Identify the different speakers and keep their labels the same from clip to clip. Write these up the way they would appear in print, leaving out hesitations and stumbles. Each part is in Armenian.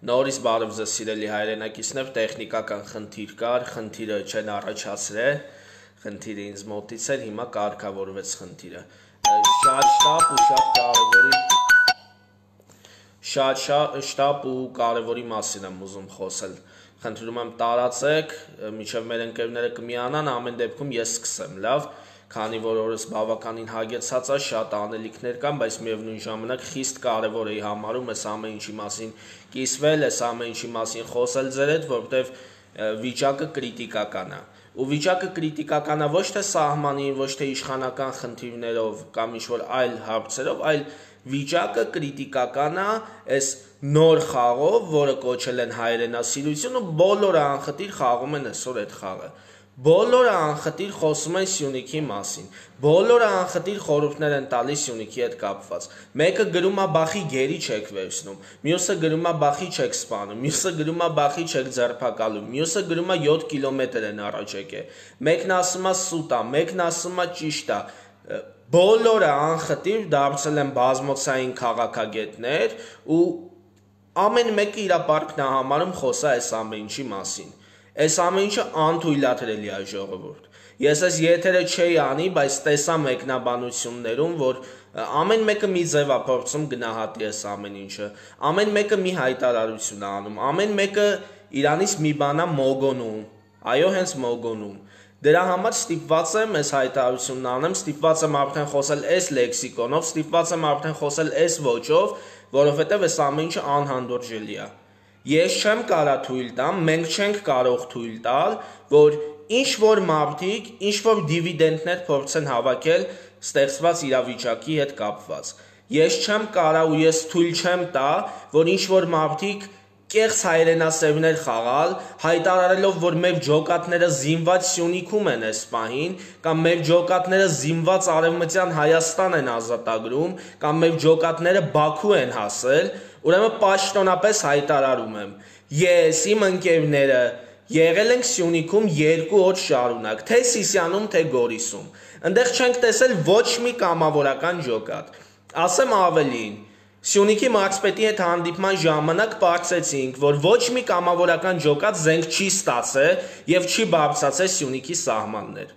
Speaker 1: Նորից բարև ձեզ սիրելի հայրենակիցներ, տեխնիկական խնդիր կար, խնդիրը չեն առաջացրել, խնդիրը ինձ մոտից էր, հիմա կարգավորվեց խնդիրը։ Շատ ու կարևորի մասին եմ ուզում խոսել։ Խնդրում եմ տարածեք, մինչև մեր ընկերները կմիանան, ամեն դեպքում ես սկսեմ, լավ, քանի որ օրս բավականին հագեցած է, շատ անելիքներ կան, բայց միևնույն ժամանակ խիստ կարևոր է համարում այս ամեն ինչի մասին կիսվել, այս ամեն ինչի մասին խոսել ձեր հետ, որովհետև վիճակը կրիտիկական է։ Ու վիճակը կրիտիկական է ոչ թե սահմանին, ոչ թե իշխանական խնդիրներով կամ ինչ-որ այլ հարցերով, այլ վիճակը կրիտիկական է այս նոր խաղով, որը կոչել են հայրենասիրություն ու բոլորը անխտիր խաղում են այսօր այդ խաղը։ Բոլորը անխտիր խոսում են Սյունիքի մասին, բոլորը անխտիր խորհուրդներ են տալիս Սյունիքի հետ կապված։ Մեկը գրում է բախի գերի չեք վերցնում, մյուսը գրում է բախի չեք սպանում, մյուսը գրում է բախի չեք ձերբակալում, մյուսը գրում է 7 կիլոմետր են առաջ եկել, մեկն ասում է սուտ է, մեկն ասում է ճիշտ է։ Բոլորը անխտիր դարձել են բազմոցային քաղաքագետներ ու ամեն մեկը իր պարտքն է համարում խոսա այս ամեն ինչի մասին։ Այս ամեն ինչը անթույլատրելի է ժողովուրդ։ Ես այս եթերը չէի անի, բայց տեսա մեկնաբանություններում, որ ամեն մեկը մի ձև է փորձում գնահատի այս ամեն ինչը, ամեն մեկը մի հայտարարություն է անում, ամեն մեկը իրանից մի բան է մոգոնում, այո, հենց մոգոնում։ Դրա համար ստիպված եմ այս հայտարարությունն անեմ, ստիպված եմ արդեն խոսել այս լեքսիկոնով, ստիպված եմ արդեն խոսել այս ոճով, որովհետև այս ամեն ինչը անհանդուրժելի է։ Ես չեմ կարա թույլ տամ, մենք չենք կարող թույլ տալ, որ ինչ-որ մարդիկ, ինչ-որ դիվիդենդներ փորձեն հավաքել ստեղծված իրավիճակի հետ կապված։ Ես չեմ կարա ու ես թույլ չեմ տա, որ ինչ-որ մարդիկ կեղծ հայրենասերներ խաղալ, հայտարարելով, որ մեր ջոկատները զինված Սյունիքում են այս պահին, կամ մեր ջոկատները զինված Արևմտյան Հայաստան են ազատագրում, կամ մեր ջոկատները Բաքու են հասել, ուրեմն պաշտոնապես հայտարարում եմ, ես, իմ ընկերները եղել ենք Սյունիքում 2 օր շարունակ, թե Սիսիանում, թե Գորիսում, ընդեղ չենք տեսել ոչ մի կամավորական ջոկատ, ասեմ ավելին, Սյունիքի մարզպետի հետ հանդիպման ժամանակ պարզեցինք, որ ոչ մի կամավորական ջոկատ զենք չի ստացել եւ չի բարձրացել Սյունիքի սահմաններ։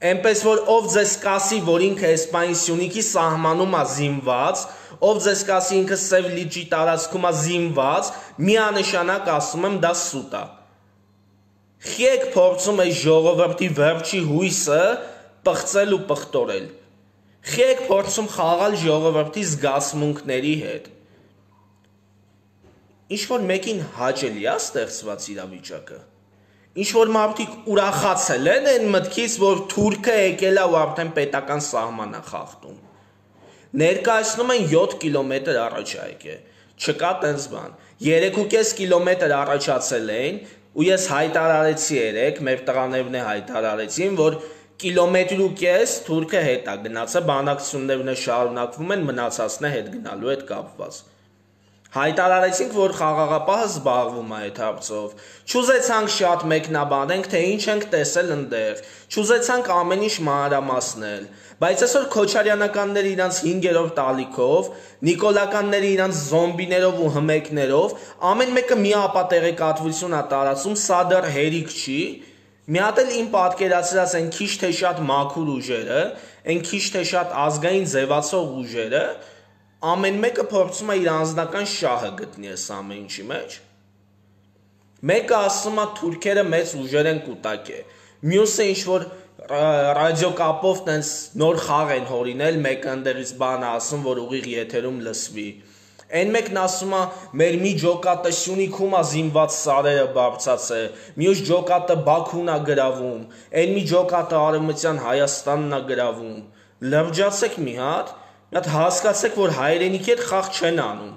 Speaker 1: Էնպես որ ով ձեզ կասի, որ ինքը այս պահին Սյունիքի սահմանում է զինված, ով ձեզ կասի ինքը Սև լիճի տարածքում է զինված, միանշանակ ասում եմ դա սուտ է։ Խիեք փորձում է ժողովրդի վերջի հույսը պղծել ու պղտորել։ Խիեք փորձում խաղալ ժողովրդի զգացմունքների հետ։ Ինչ-որ մեկին հաճելի է ստեղծված իրավիճակը։ Ինչ-որ մարդիկ ուրախացել են այն մտքից, որ թուրքը եկել է ու արդեն պետական սահման է խախտում։ Ներկայացնում են 7 կիլոմետր առաջ է եկել։ Չկա տենց բան։ 3.5 կիլոմետր առաջացել էին ու ես հայտարարեցի երեք, մեր տղաներն հայտարարեցին, որ կիլոմետր ու կես թուրքը հետ է գնացել, բանակցություններն շարունակվում են, մնացածն է հետ գնալու հետ կապված։ Հայտարարեցինք, որ խաղաղապահը զբաղվում է այդ հարցով։ Չուզեցանք շատ մեկնաբանենք, թե ինչ ենք տեսել ընդեղ։ Չուզեցանք ամեն ինչ մանրամասնել։ Բայց այսօր քոչարյանականները իրանց 5-րդ տալիքով, նիկոլականները իրանց զոմբիներով ու հմեկներով, ամեն մեկը մի ապատեղեկատվություն է տարածում, սա դեռ հերիք չի։ Մի հատ էլ իմ պատկերացրած են քիչ թե շատ մաքուր ուժերը, են քիչ թե շատ ազգային ձևացող ուժերը, ամեն մեկը փորձում է իր անձնական շահը գտնի այս ամեն ինչի մեջ։ Մեկը ասում է թուրքերը մեծ ուժեր են կուտակել, մյուսը ինչ-որ ռադիոկապով տենց նոր խաղ են հորինել, մեկը ընդերից բան է ասում, որ ուղիղ եթերում լսվի։ Այն մեկն ասում է, մեր մի ջոկատը Սյունիքում է զինված սարերը բարձացել, մյուս ջոկատը Բաքուն է գրավում, այն մի ջոկատը Արևմտյան Հայաստանն է գրավում։ Լրջացեք մի հատ հասկացեք, որ հայրենիքի հետ խաղ չեն անում։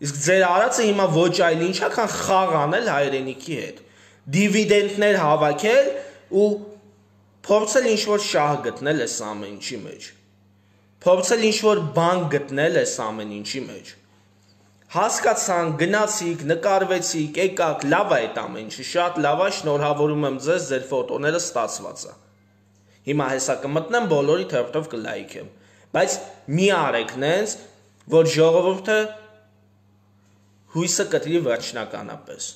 Speaker 1: Իսկ ձեր արածը հիմա ոչ այլ ինչ է, քան խաղ անել հայրենիքի հետ։ Դիվիդենդներ հավաքել ու փորձել ինչ-որ շահ գտնել այս ամեն ինչի մեջ։ Փորձել ինչ-որ բան գտնել այս ամեն ինչի մեջ։ Հասկացան, գնացիք, նկարվեցիք, եկաք, լավ է այդ ամեն ինչը, շատ լավ է, շնորհավորում եմ ձեզ, ձեր ֆոտոները ստացված է։ Հիմա հեսա կմտնեմ, բոլորի թերթով կլայքեմ, բայց մի արեք նենց, որ ժողովուրդը հույսը կտրի վերջնականապես։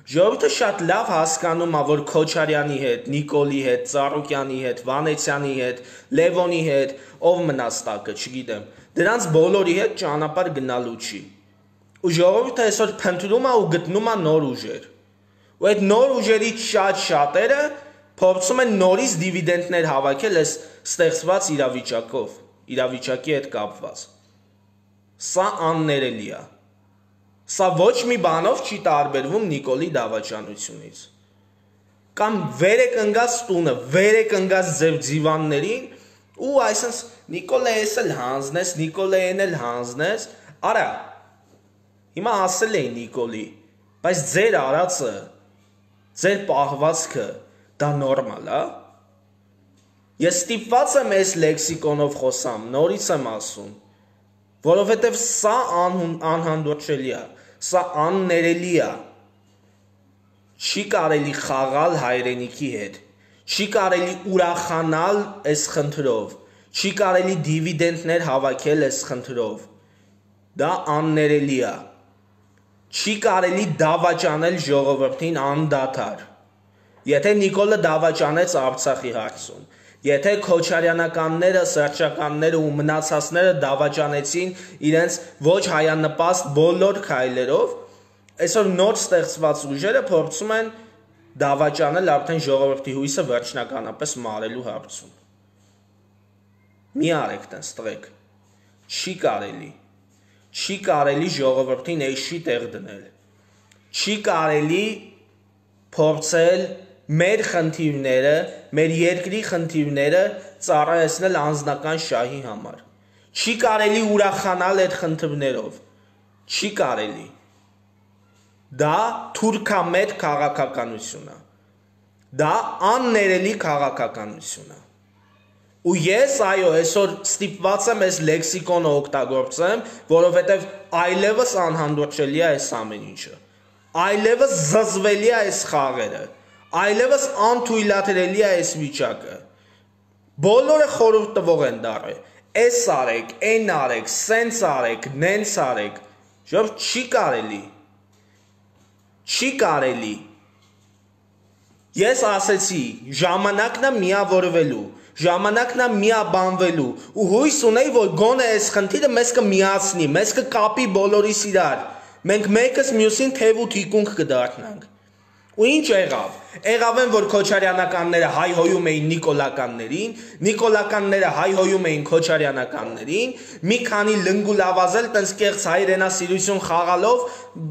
Speaker 1: Ժողովուրդը շատ լավ հասկանում է, որ Քոչարյանի հետ, Նիկոլի հետ, Ծառուկյանի հետ, Վանեցյանի հետ, Լևոնի հետ, ով մնաց տակը, չգիտեմ, դրանց բոլորի հետ ճանապարհ գնալու չի։ Ու ժողովուրդը այսօր փնտրում է ու գտնում է նոր ուժեր։ Ու այդ նոր ուժերից շատերը փորձում են նորից դիվիդենտներ հավաքել այս ստեղծված իրավիճակի հետ կապված։ Սա աններելի է։ Սա ոչ մի բանով չի տարբերվում Նիկոլի դավաճանությունից։ Կամ վեր եք ընկած տունը, վեր եք ընկած ձեր ձիվաններին ու այսպես Նիկոլը էս էլ հանձնես, Նիկոլը են էլ հանձնես, արա։ Հիմա ասել էի Նիկոլի, բայց ձեր արածը, ձեր պահվածքը դա նորմալ է։ Ես ստիպված եմ այս լեքսիկոնով խոսամ, նորից եմ ասում, որովհետև սա անհանդուրժելի է, սա աններելի է։ Չի կարելի խաղալ հայրենիքի հետ, չի կարելի ուրախանալ այս խնդրով, չի կարելի դիվիդենտներ հավաքել այս խնդրով։ Դա աններելի է։ Չի կարելի դավաճանել ժողովրդին անդադար։ Եթե Նիկոլը դավաճանեց Արցախի հարցում, եթե Քոչարյանականները, Սերժականները ու մնացածները դավաճանեցին իրենց ոչ հայանպաստ բոլոր քայլերով, այսօր նոր ստեղծված ուժերը փորձում են դավաճանել արդեն ժողովրդի հույսը վերջնականապես մարելու հարցում։ Մի արեք տենց տղեկ։ Չի կարելի ժողովրդին էշի տեղ դնել։ Չի կարելի փորձել մեր խնդիրները, մեր երկրի խնդիրները ծառայեցնել անձնական շահի համար։ Չի կարելի ուրախանալ այդ խնդիրներով։ Չի կարելի։ Դա թուրքամետ քաղաքականություն է։ Դա աններելի քաղաքականություն է։ Ու ես այո, այսօր ստիպված եմ այս լեքսիկոնը օգտագործեմ, որովհետև այլևս անհանդուրժելի է այս ամեն ինչը։ Այլևս զզվելի է այս խաղերը։ Այլևս անթույլատրելի է այս վիճակը։ Բոլորը խորհուրդ տվող են դառել։ Էս արեք, այն արեք, սենց արեք, նենց արեք։ Ժողովուրդ չի կարելի։ Չի կարելի։ Ես ասեցի, ժամանակն է միավորվելու, ժամանակն է միաբանվելու ու հույս ունեի, որ գոնե այս խնդիրը մեզ կմիացնի, մեզ կկապի բոլորիս իրար։ Մենք մեկս մյուսին թև ու թիկունք կդառնանք։ Ու ինչ եղավ։ Եղավ են, որ Քոչարյանականները հայհոյում էին Նիկոլականներին, Նիկոլականները հայհոյում էին Քոչարյանականներին, մի քանի լնգուլավազել տենց կեղծ հայրենասիրություն խաղալով,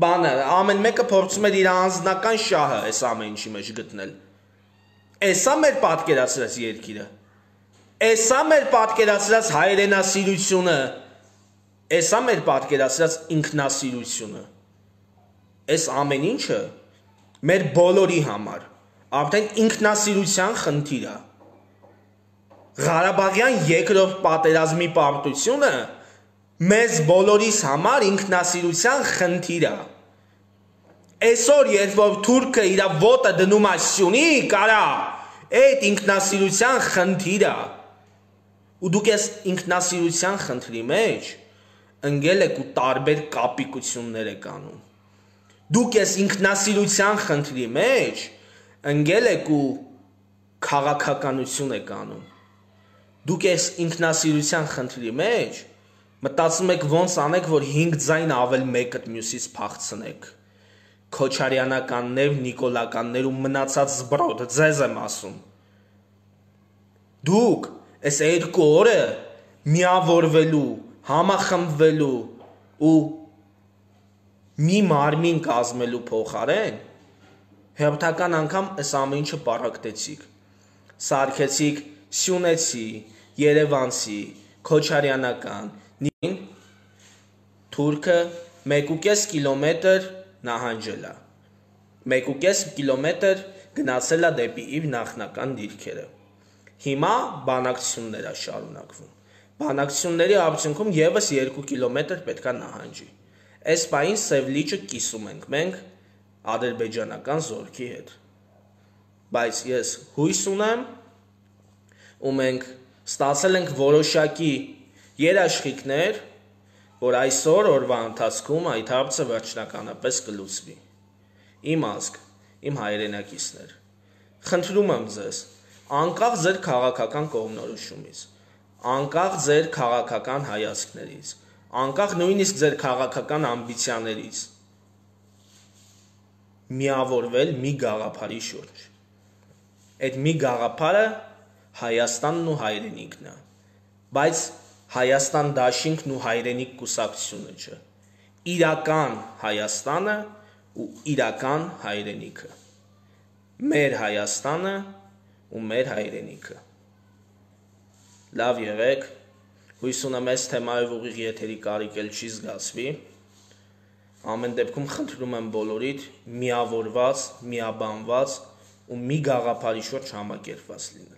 Speaker 1: բանը, ամեն մեկը փորձում էր իր անձնական շահը այս ամեն ինչի մեջ գտնել։ Էսա մեր պատկերացրած երկիրը։ Էսա մեր պատկերացրած հայրենասիրությունը, էսա մեր պատկերացրած ինքնասիրությունը։ Այս ամեն ինչը մեր բոլորի համար արդեն ինքնասիրության խնդիր է։ Ղարաբաղյան երկրորդ պատերազմի պարտությունը մեզ բոլորիս համար ինքնասիրության խնդիր է։ Այսօր երբ որ թուրքը իր ոտը դնում է Սյունիք, արա, այդ ինքնասիրության խնդիր է։ Ու դուք այս ինքնասիրության խնդրի մեջ ընկել եք ու տարբեր կապիկություններ եք անում։ Դուք այս ինքնասիրության խնդրի մեջ ընկել եք ու քաղաքականություն եք անում։ Դուք այս ինքնասիրության խնդրի մեջ մտածում եք ոնց անեք, որ 5 ձայն ավել մեկը մյուսից փախցնեք։ Քոչարյանականներ, Նիկոլականներ ու մնացած զբրոդ, ձեզ եմ ասում։ Դուք այս 2 օրը միավորվելու, համախմբվելու ու մի մարմին կազմելու փոխարեն հերթական անգամ այս ամեն ինչը պարակտեցիք։ Սարքեցիք սյունեցի, երևանցի, քոչարյանական, թուրքը 1.5 կիլոմետր նահանջել է։ 1.5 կիլոմետր գնացել է դեպի իր նախնական դիրքերը։ Հիմա բանակցություններ է շարունակվում։ Բանակցությունների արդյունքում եւս 2 կիլոմետր պետք է նահանջի։ Այս պահին Սև լիճը կիսում ենք մենք ադրբեջանական զորքի հետ։ Բայց ես հույս ունեմ ու մենք ստացել ենք որոշակի երաշխիքներ, որ այսօր օրվա ընթացքում այդ հարցը վերջնականապես կլուծվի։ Իմ ազգ, իմ հայրենակիցներ, խնդրում եմ ձեզ, անկախ ձեր քաղաքական կողմնորոշումից, անկախ ձեր քաղաքական հայացքներից, անկախ նույնիսկ ձեր քաղաքական ամբիցիաներից, միավորվել մի գաղափարի շուրջ։ Այդ մի գաղափարը Հայաստանն ու հայրենիքն է, բայց Հայաստան դաշինքն ու հայրենիք կուսակցությունը չէ, իրական Հայաստանը ու իրական հայրենիքը, մեր Հայաստանը ու մեր հայրենիքը։ Լավ եղեք, հույս ունեմ այս թեմայով ուղիղ եթերի կարիք էլ չի զգացվի, ամեն դեպքում խնդրում եմ բոլորիդ միավորված, միաբանված ու մի գաղափարի շուրջ համակերպված լինել։